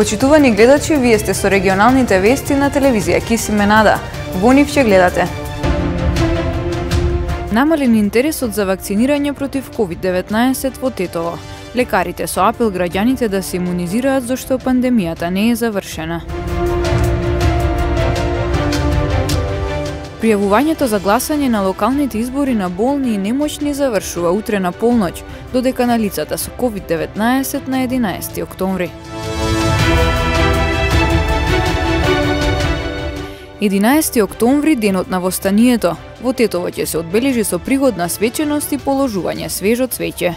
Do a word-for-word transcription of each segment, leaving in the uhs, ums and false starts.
Почитувани гледачи, вие сте со регионалните вести на телевизија Кисиме Нада. Во нив ќе гледате. Намален интересот за вакцинирање против ковид деветнаесет во Тетово. Лекарите со апел граѓаните да се имунизираат зашто пандемијата не е завршена. Пријавувањето за гласање на локалните избори на болни и немоćни завршува утре на полноќ, додека на лицата со ковид деветнаесет на единаесети октомври. единаесети октомври, денот на востанието. Во Тетово ќе се одбележи со пригодна свеченост и положување свежо цвеќе.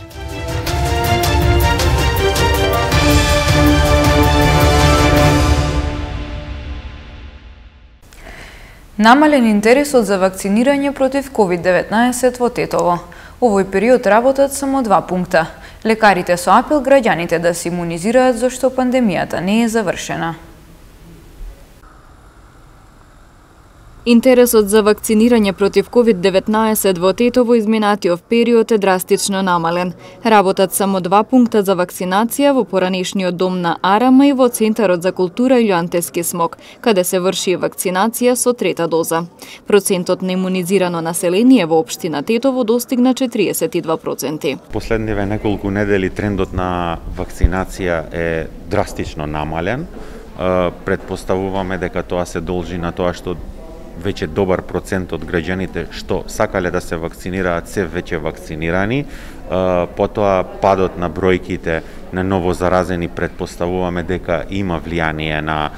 Намален интересот за вакцинирање против ковид деветнаесет во Тетово. Овој период работат само два пункта. Лекарите со апел граѓаните да се имунизираат зашто пандемијата не е завршена. Интересот за вакцинирање против ковид деветнаесет во Тетово изминатиот период е драстично намален. Работат само два пункта за вакцинација во поранешниот дом на Арама и во Центарот за култура Илјантески смок, каде се врши вакцинација со трета доза. Процентот на имунизирано население во општина Тетово достигна четириесет и два проценти. Последниве неколку недели трендот на вакцинација е драстично намален. Предпоставуваме дека тоа се должи на тоа што веќе добар процент од граѓаните што сакале да се вакцинираат се веќе вакцинирани. Потоа падот на бројките на новозаразени предпоставуваме дека има влијание на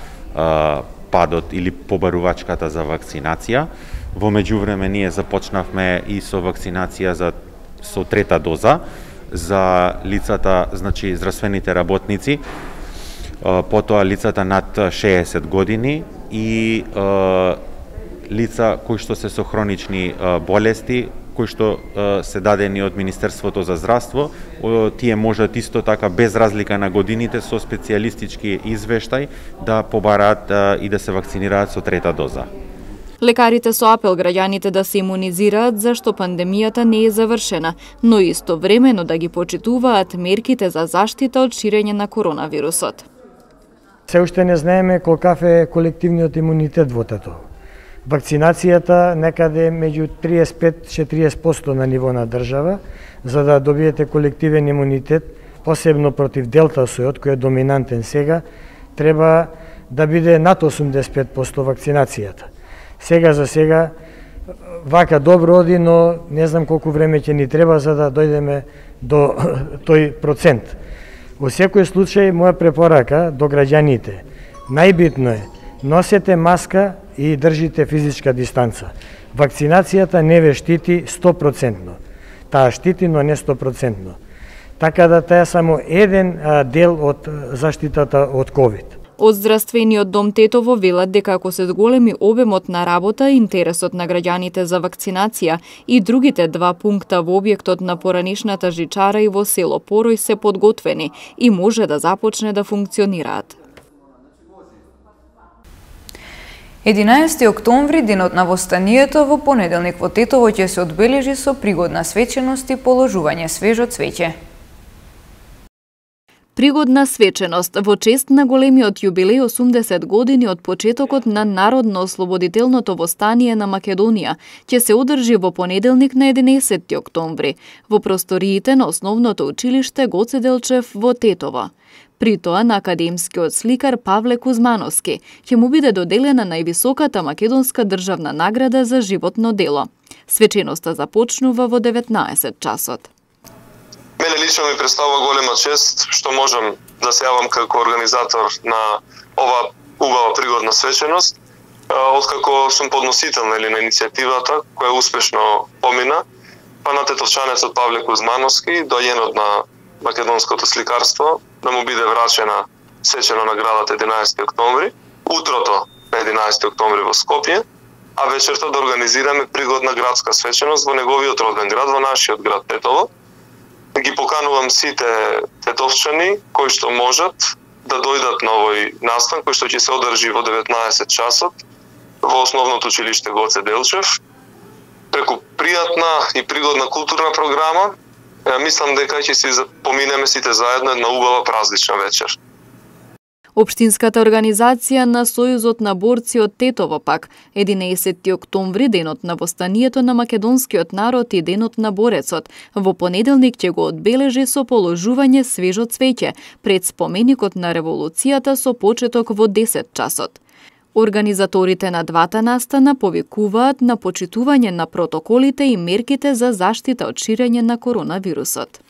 падот или побарувачката за вакцинација. Во меѓувреме ние започнавме и со вакцинација за со трета доза за лицата, значи здравствените работници, потоа лицата над шеесет години и лица кои што се со хронични болести, кои што се дадени од Министерството за здравство, тие можат исто така без разлика на годините со специјалистички извештај да побараат и да се вакцинираат со трета доза. Лекарите со апел граѓаните да се имунизираат зашто пандемијата не е завршена, но истовремено да ги почитуваат мерките за заштита од ширење на коронавирусот. Се уште не знаеме колкав е колективниот имунитет во Тетово. Вакцинацијата некаде меѓу триесет и пет до четириесет проценти на ниво на држава, за да добиете колективен имунитет, посебно против делта сојот, кој е доминантен сега, треба да биде над осумдесет и пет проценти вакцинацијата. Сега за сега вака добро оди, но не знам колку време ќе ни треба за да дојдеме до тој процент. Во секој случај, моја препорака до граѓаните, најбитно е носете маска и држите физичка дистанца. Вакцинацијата не ве штити сто проценти. Таа штити, но не сто проценти. Така да таа е само еден дел од заштитата од ковид. Од здравствениот дом Тетово велат дека ако се зголеми обемот на работа, интересот на граѓаните за вакцинација и другите два пункта во објектот на поранишната жичара и во село Порој се подготвени и може да започне да функционираат. единаесети октомври, денот на востанието, во понеделник во Тетово ќе се одбележи со пригодна свеченост и положување свежо цвеќе. Пригодна свеченост во чест на големиот јубилеј осумдесет години од почетокот на Народно-ослободителното востание на Македонија ќе се одржи во понеделник на единаесети октомври во просториите на основното училиште Гоце Делчев во Тетово. При тоа на академскиот сликар Павле Кузмановски ќе му биде доделена највисоката македонска државна награда за животно дело. Свеченоста започнува во деветнаесет часот. Мене лично ми представува голема чест што можам да се јавам како организатор на ова убава пригодна свеченост, откако сум подносител нели на иницијативата која успешно помина, па на тетовчанецот Павле Кузмановски, доајенот на македонското сликарство, да му биде врачена свечена наградата единаесети октомври, утрото на единаесети октомври во Скопје, а вечерта да организираме пригодна градска свеченост во неговиот роден град, во нашиот град Тетово. Ги поканувам сите тетовчани кои што можат да дојдат на овој настан кој што ќе се одржи во деветнаесет часот во основното училиште Гоце Делчев. Преку пријатна и пригодна културна програма, мислам дека ќе си поминеме сите заедно една убава празнична вечер. Општинската организација на Сојузот на борци од Тетово пак, единаесетти октомври, денот на востанието на македонскиот народ и денот на борецот, во понеделник ќе го одбележи со положување свежо цвеќе пред споменикот на револуцијата со почеток во десет часот. Организаторите на двата настана повикуваат на почитување на протоколите и мерките за заштита од ширење на коронавирусот.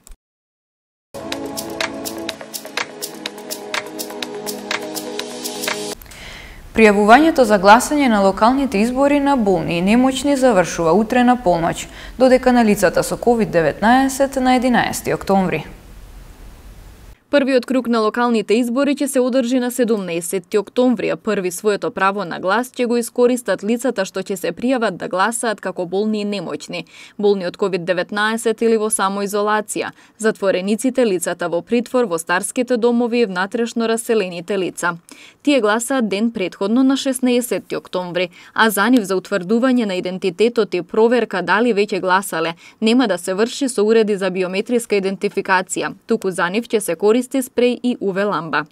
Пријавувањето за гласање на локалните избори на болни и немоćни завршува утре на полноќ, додека на лицата со ковид деветнаесет на единаесети октомври. Првиот круг на локалните избори ќе се одржи на седумнаесетти октомври, а први своето право на глас ќе го искористат лицата што ќе се пријават да гласаат како болни и немоćни, болни од ковид деветнаесет или во самоизолација, затворениците, лицата во притвор, во старските домови и внатрешно раселените лица. Тие гласаат ден претходно на шеснаесетти октомври, а за нив за утврдување на идентитетот и проверка дали веќе гласале нема да се врши со уреди за биометриска идентификација, туку за нив ќе се користи спреј и УВ ламба.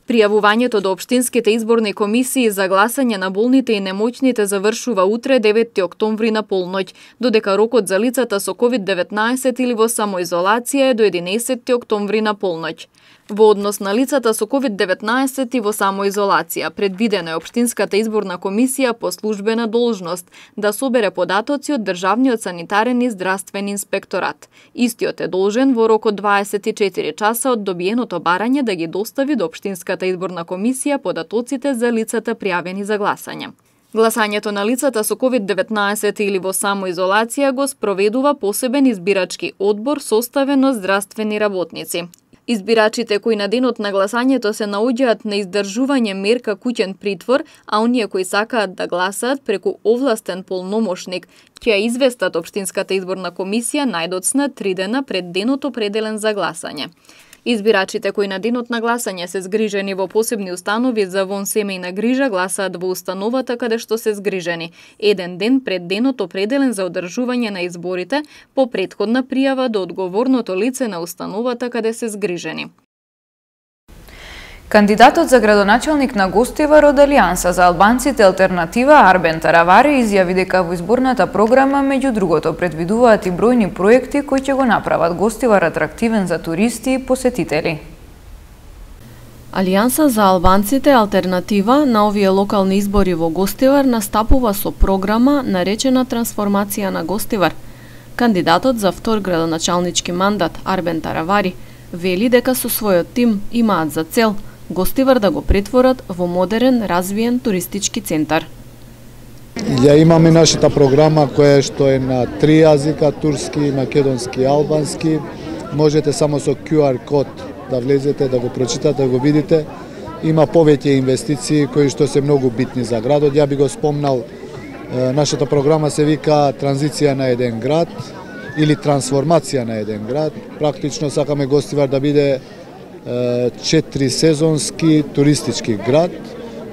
Пријавувањето до општинските изборни комисии за гласање на болните и немоćните завршува утре деветти октомври на полноќ, додека рокот за лицата со ковид деветнаесет или во самоизолација е до единаесетти октомври на полноќ. Во однос на лицата со ковид деветнаесет и во самоизолација, предвидено е општинската изборна комисија по службена должност да собере податоци од Државниот санитарен и здравствен инспекторат. Истиот е должен во рок од дваесет и четири часа од добиеното барање да ги достави до општинската изборна комисија податоците за лицата пријавени за гласање. Гласањето на лицата со ковид деветнаесет или во самоизолација го спроведува посебен избирачки одбор составен од здравствени работници. Избирачите кои на денот на гласањето се наоѓаат на издржување мерка куќен притвор, а оние кои сакаат да гласаат преку овластен полномошник, ќе ја известат општинската изборна комисија најдоцна три дена пред денот определен за гласање. Избирачите кои на денот на гласање се згрижени во посебни установи за вонсемејна грижа гласаат во установата каде што се згрижени, еден ден пред денот определен за одржување на изборите по претходна пријава до одговорното лице на установата каде се згрижени. Кандидатот за градоначалник на Гостивар од Алијанса за албанците Алтернатива Арбен Таравари изјави дека во изборната програма меѓу другото предвидуваат и бројни проекти кои ќе го направат Гостивар атрактивен за туристи и посетители. Алијанса за албанците Алтернатива на овие локални избори во Гостивар настапува со програма наречена Трансформација на Гостивар. Кандидатот за втор градоначалнички мандат Арбен Таравари вели дека со својот тим имаат за цел Гостивар да го претворат во модерен, развиен туристички центар. Ја имаме нашата програма која што е на три јазика, турски, македонски и албански. Можете само со ку ар код да влезете, да го прочитате, да го видите. Има повеќе инвестиции кои што се многу битни за градот. Ја би го спомнал, нашата програма се вика Транзиција на еден град или трансформација на еден град. Практично сакаме Гостивар да биде четири сезонски туристички град,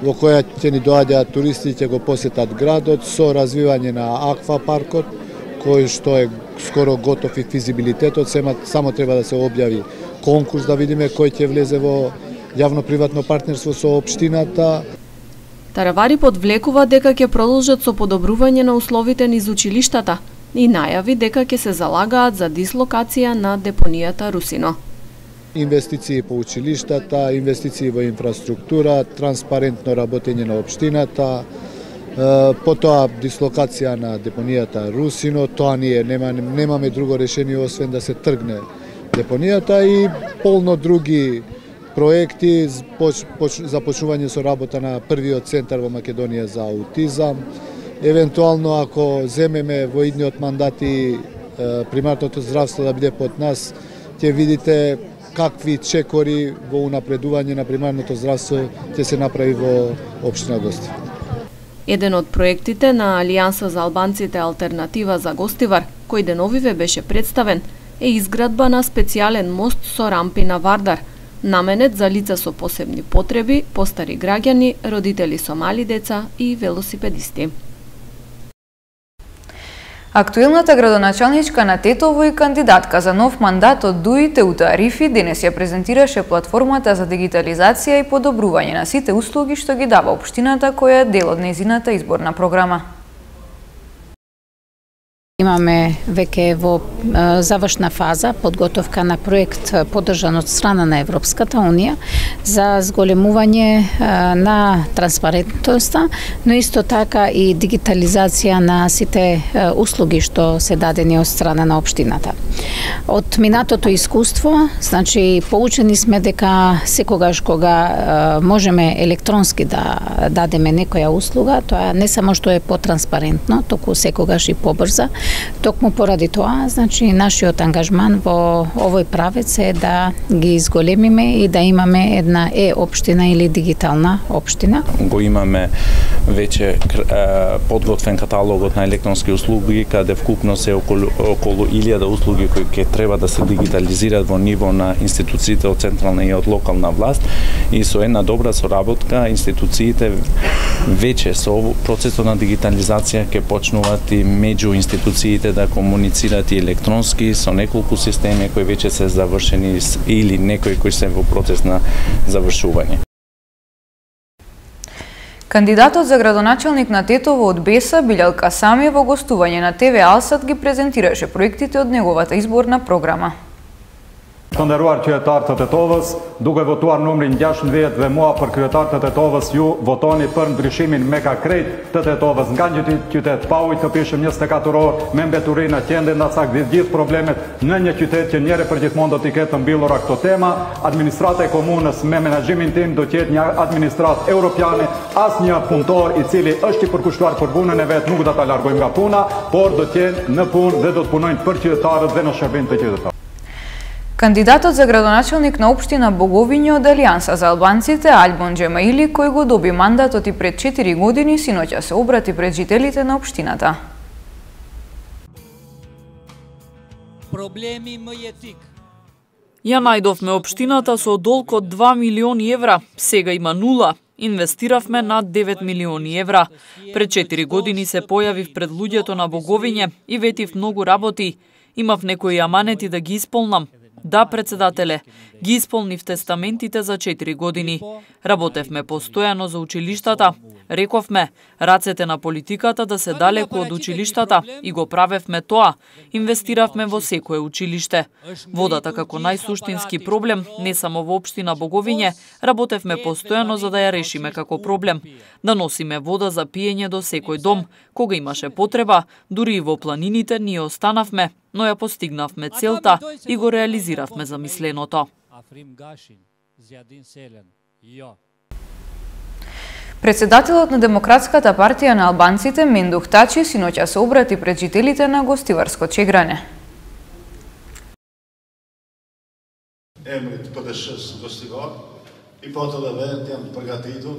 во која ќе ни доаѓаат туристи, ќе го посетат градот со развивање на аквапаркот, кој што е скоро готов и физибилитетот, само треба да се објави конкурс да видиме кој ќе влезе во јавно-приватно партнерство со општината. Таравари подвлекува дека ќе продолжат со подобрување на условите низ училиштата и најави дека ќе се залагаат за дислокација на депонијата Русино. Инвестиции по училиштата, инвестиции во инфраструктура, транспарентно работење на општината, потоа дислокација на депонијата Русино, тоа ние нема, немаме друго решение освен да се тргне депонијата и полно други проекти, започнување со работа на првиот центар во Македонија за аутизам. Евентуално ако земеме во идниот мандати примарното здравство да биде под нас, ќе видите какви чекори во унапредување на примарното здравство ќе се направи во општина Гостивар. Еден од проектите на Алијанса за албанците Алтернатива за Гостивар, кој деновиве беше представен, е изградба на специјален мост со рампи на Вардар, наменет за лица со посебни потреби, постари граѓани, родители со мали деца и велосипедисти. Актуелната градоначалничка на Тетово и кандидатка за нов мандат од ДУИ Теута Арифи денес ја презентираше платформата за дигитализација и подобрување на сите услуги што ги дава општината, која е дел од нејзината изборна програма. Имаме веќе во завршна фаза подготовка на проект поддржан од страна на Европската Унија за зголемување на транспарентноста, но исто така и дигитализација на сите услуги што се дадени од страна на општината. Од минатото искуство, значи поучени сме дека секогаш кога можеме електронски да дадеме некоја услуга, тоа не само што е потранспарентно, току секогаш и побрза. Токму поради тоа, значи нашиот ангажман во овој правец е да ги изголемиме и да имаме една е-општина или дигитална општина. Го имаме веќе подготвен каталогот на електронски услуги, каде вкупно се околу, околу илјада услуги кои ќе треба да се дигитализираат во ниво на институциите од централна и од локална власт, и со една добра соработка институциите веќе со процесот на дигитализација ќе почнуваат и меѓу институциите да комуницираат и електронски со неколку системи кои веќе се завршени или некои кои се во процес на завршување. Кандидатот за градоначалник на Тетово од Беса, Билјал Касами, во гостување на ТВ Алсат ги презентираше проектите од неговата изборна програма. Të nderuar qytetarë të Tetovës, duke votuar numrin gjashtëdhjetë dhe mua për kryetar të Tetovës, ju votoni për ndryshimin me ka krejt të Tetovës nga një qytet pa ujë të pishëm njëzet e katër orë me mbeturinë qende ndasak dhe gjithë problemet në një qytet që njëre për gjithmonë do t'i ketë mbyllura këto tema. Administrata e komunës me menaxhimin tim do t'jetë një administratë europiane, as një punëtor i cili është i përkushtuar për punën e vet nuk do ta largojmë nga puna, por do t'jenë në punë dhe do të punojnë për qytetarët dhe në shërbim të qytetarëve. Кандидатот за градоначалник на општина Боговиње од Алијанса за албанците, Альбон Джемаили, кој го доби мандатот и пред четири години, синоќа се обрати пред жителите на општината. Проблеми Мајетик. Ја најдовме општината со долг од два милиони евра, сега има нула. Инвестиравме над девет милиони евра. Пред четири години се појавив пред луѓето на Боговиње и ветив многу работи. Имав некои аманети да ги исполнам. Да, председателе, ги исполнив тестаментите за четири години. Работевме постојано за училиштата. Рековме, рацете на политиката да се далеку од училиштата и го правевме тоа. Инвестиравме во секое училиште. Водата како најсуштински проблем, не само во општина Боговиње, работевме постојано за да ја решиме како проблем. Да носиме вода за пиење до секој дом. Кога имаше потреба, дури и во планините ние останавме, но ја постигнавме целта и го реализиравме замисленото. Председателот на Демократската партија на албанците Мендух Тачи синоќа се обрати пред жителите на Гостиварско Чегране. Emrit P D S-s Gostivar и потоа веќе јам прегатиту.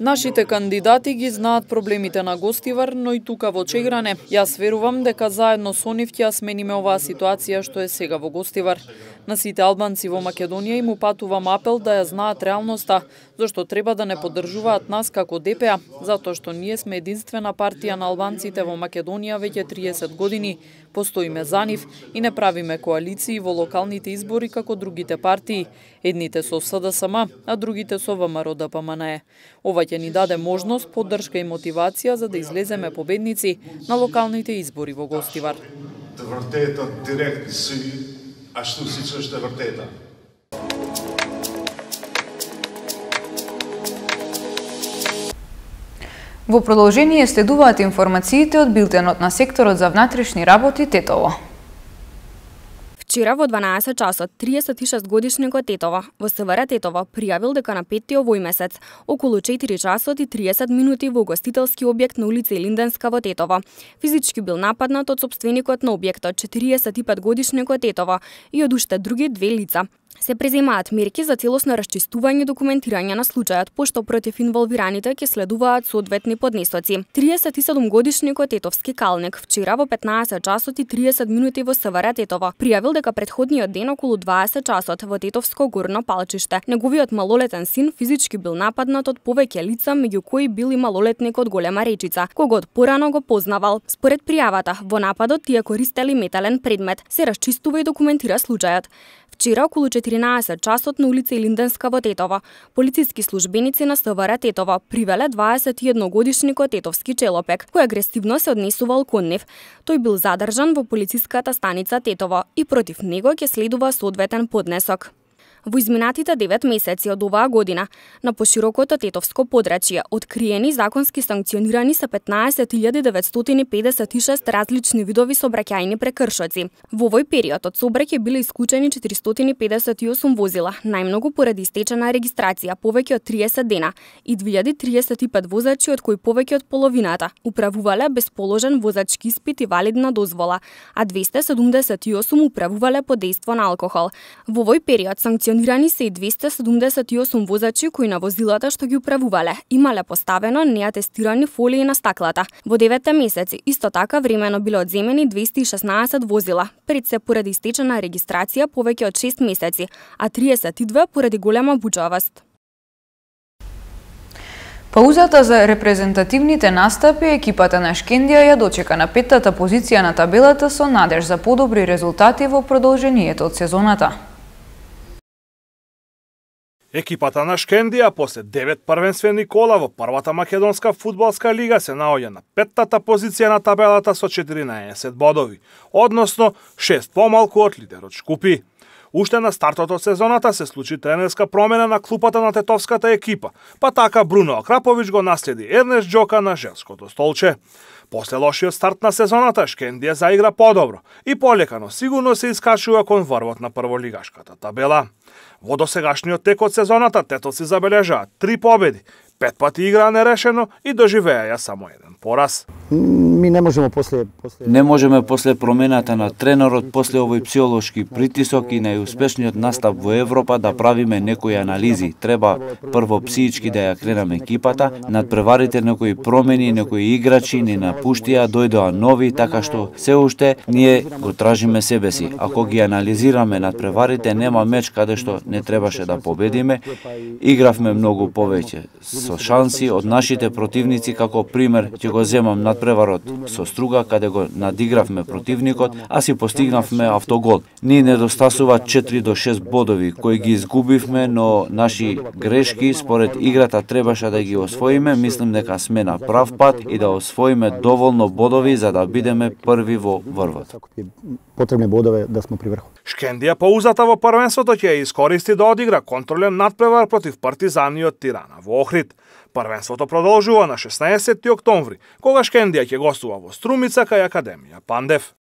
Нашите кандидати ги знаат проблемите на Гостивар, но и тука во Чегране. Јас верувам дека заедно со нив ќе ја смениме оваа ситуација што е сега во Гостивар. На сите албанци во Македонија им упатувам апел да ја знаат реалноста, зашто треба да не поддржуваат нас како Д П А, затоа што ние сме единствена партија на албанците во Македонија веќе триесет години. Постоиме за нив и не правиме коалиции во локалните избори како другите партии. Едните со С Д С М, а другите со В М Р Д П М Н Е. Ова ќе ни даде можност, поддршка и мотивација за да излеземе победници на локалните избори во Гостивар. Të vërtetën direkt në sy, ashtu siç është e vërteta. Во продолжение следуваат информациите од билтенот на секторот за внатрешни работи Тетово. Вчера во дванаесет часот триесет и шест годишникот Тетово во С В Р Тетово пријавил дека на петти овој месец околу четири часот и триесет минути во гостителски објект на улица Илинденска во Тетово физички бил нападнат од сопственикот на објектот четириесет и пет годишникот Тетово и од уште други две лица. Се преземаат мерки за целосно расчистување и документирање на случајот, пошто против инволвираните ќе следуваат соодветни поднесоци. триесет и седум годишникот Тетовски калник вчера во петнаесет часот и триесет минути во СВР Тетово пријавил дека претходниот ден околу дваесет часот во Тетовско горно палчиште неговиот малолетен син физички бил нападнат од повеќе лица, меѓу кои бил и малолетникот Голема Речица, когот порано го познавал. Според пријавата, во нападот тие користели метален предмет. Се расчистува и документира случајот. Вчера околу четиринаесет часот на улица Илинденска во Тетово, полициски службеници на СВР Тетово привеле дваесет и едногодишникот Тетовски Челопек, кој агресивно се однесувал кон нив. Тој бил задржан во полициската станица Тетово и против него ќе следува соодветен поднесок. Во изминатите девет месеци од оваа година, на поширокото Тетовско подрачје, откриени законски санкционирани се петнаесет илјади деветстотини педесет и шест различни видови сообраќајни прекршоци. Во овој период од сообраќај биле исклучени четиристотини педесет и осум возила, најмногу поради истечена регистрација, повеќе од триесет дена, и две илјади триесет и пет возачи, од кои повеќе од половината управувале без положен возачки испит и валидна дозвола, а двесте седумдесет и осум управувале под дејство на алкохол. Во овој период санкционирани Санкционирани се и двесте седумдесет и осум возачи кои на возилата што ги управувале имале поставено неатестирани фолии на стаклата. Во деветте месеци исто така времено биле одземени двесте и шеснаесет возила, пред се поради истечена регистрација повеќе од шест месеци, а триесет и две поради голема бучавост. Паузата за репрезентативните настапи, екипата на Шкендија ја дочека на петтата позиција на табелата со надеж за подобри резултати во продолжението од сезоната. Екипата на Шкендија после девет првенствени кола во првата македонска фудбалска лига се наоѓа на петтата позиција на табелата со четиринаесет бодови, односно шест помалку од лидерот Шкупи. Уште на стартот од сезоната се случи тренерска промена на клупата на тетовската екипа, па така Бруно Акрапович го наследи Ернест Џока на женското столче. После лошиот старт на сезоната, Шкендија заигра подобро и полека, но сигурно се искачува кон врвот на прволигашката табела. Во досегашниот тек од сезоната, тетовци забележаат три победи, пет пати играа нерешено и доживеа ја само еден пораз. Ми не можеме после, после... Не можеме после промената на тренерот, после овој психолошки притисок и најуспешниот настап во Европа да правиме некои анализи. Треба прво психички да ја кренаме екипата, надпреварите некои промени, некои играчи ни напуштија, дојдоа нови, така што се уште ние го тражиме себе си. Ако ги анализираме надпреварите, нема меч каде што не требаше да победиме. Игравме многу повеќе со шанси од нашите противници, како пример ќе го земам надпреварот со Струга, каде го надигравме противникот, а си постигнавме автогол. Ни недостасува четири до шест бодови, кои ги изгубивме, но наши грешки според играта требаше да ги освоиме. Мислим дека сме на прав пат и да освоиме доволно бодови за да бидеме први во врвот. Потребни бодове да сме при врхот. Шкендија паузата во првенството ќе ја искористи да одигра контролен надпревар против Партизани од Тирана во Охрид. Првенството продолжува на шеснаесети октомври, кога Шкендија ќе гостува во Струмица кај Академија Пандев.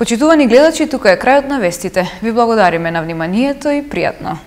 Почитувани гледачи, тука е крајот на вестите. Ви благодариме на вниманието и пријатно.